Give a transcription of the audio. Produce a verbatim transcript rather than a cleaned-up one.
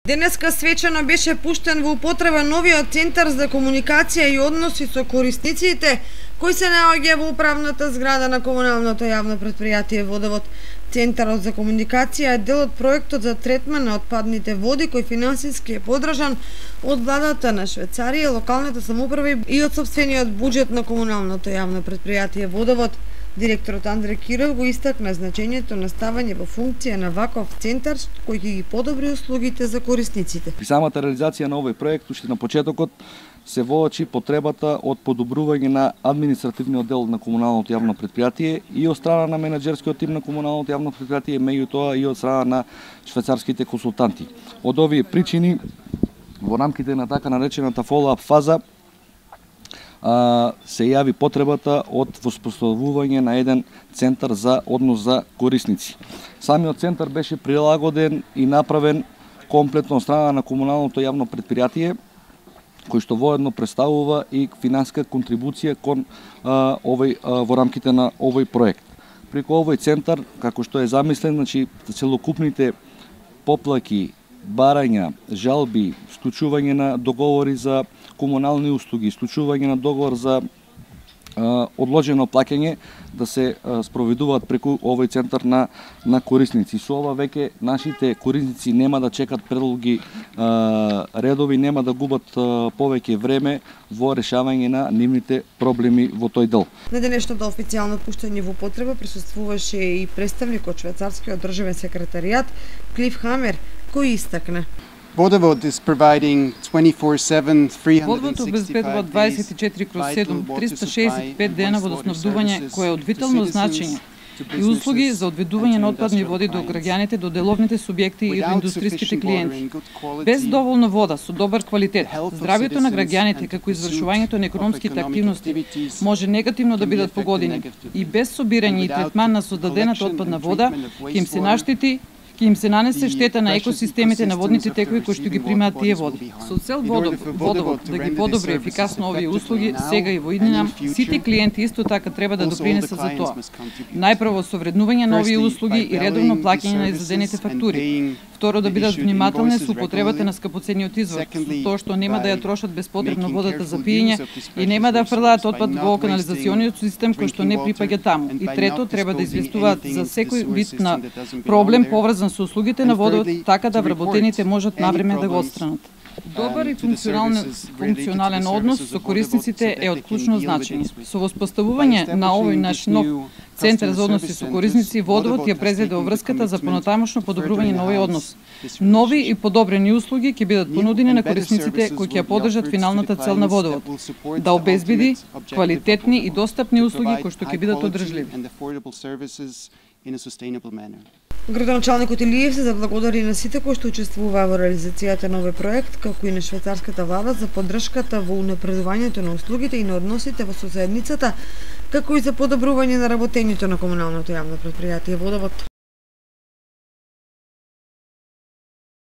Денеска свечено беше пуштен во употреба новиот Центар за комуникација и односи со корисниците, кој се наоѓа во управната зграда на комуналното јавно претпријатие Водовод. Центарот за комуникација е дел од проектот за третман на отпадните води, кој финансиски е подржан од владата на Швајцарија, локалната самоуправа и од сопствениот буџет на комуналното јавно претпријатие Водовод. Директорот Андре Киров го истакна значењето на ставање во функција на ваков центар кој ќе ги подобри услугите за корисниците. При самата реализација на овој проект, уште на почетокот, се воочи потребата од подобрување на административниот дел на комуналното јавно претпријатие и од страна на менаџерскиот тим на комуналното јавно претпријатие, меѓутоа и од страна на швајцарските консултанти. Од овие причини, во рамките на така наречената follow-up фаза, се јави потребата од воспоставување на еден центар за однос за корисници. Самиот центар беше прилагоден и направен комплетно од страна на комуналното јавно претпријатие, кој што воедно представува и финансиска контрибуција кон а, овој а, во рамките на овој проект. Преку овој центар, како што е замислен, значи целокупните поплаки, барања, жалби, склучување на договори за комунални услуги, склучување на договор за а, одложено плаќање да се а, спроведуваат преку овој центар на на корисници. Со ова веќе нашите корисници нема да чекат предолги а, редови, нема да губат а, повеќе време во решавање на нивните проблеми во тој дел. На денешното официјално пуштање во употреба присуствуваше и представник од швајцарскиот државен секретаријат Клиф Хамер, кој истакна: Водовод обезбедува дваесет и четири кроз седум, триста шеесет и пет дена водоснабдување, кое е од витално значење, и услуги за одведување на отпадни води до граѓаните, до деловните субјекти и до индустријските клиенти. Без доволно вода со добар квалитет, здравјето на граѓаните како извршувањето на економските активности може негативно да бидат погодени, и без собирање и третман на создадената отпадна вода ќе им се наштети ќе им се нанесе штета на екосистемите на водните текови кои што ги примаат тие води. Со цел Водовод да ги подобри ефикасно овие услуги, сега и во иднина, сите клиенти исто така треба да допринесат за тоа. Најпрво со вреднување на овие услуги и редовно плаќање на издадените фактури. Второ, да бидат внимателни со употребата на скапоцениот извор, со тоа што нема да ја трошат беспотребно водата за пиење и нема да фрлаат отпад во канализациониот систем кој што не припаѓа таму. И трето, треба да известуваат за секој вид на проблем поврзан со услугите на водовод, така да вработените можат навреме да го отстранат. Добар и функционален, функционален однос со корисниците е од клучно значење. Со воспоставување на овој наш нов Центар за односи со корисници, Водовод ја презеде врската за понатамошно подобрување на овој однос. Нови и подобрени услуги ќе бидат понудени на корисниците кои ќе ја подржат финалната цел на Водовод, да обезбеди квалитетни и достапни услуги кои што ќе бидат одржливи. Градоначалникот Илиев се заблагодари на сите кои што учествуваа во реализацијата на овој проект, како и на швајцарската влада за поддршката во унапредувањето на услугите и на односите во соседницата, како и за подобрување на работењето на комуналното јавно претпријатие Водовод.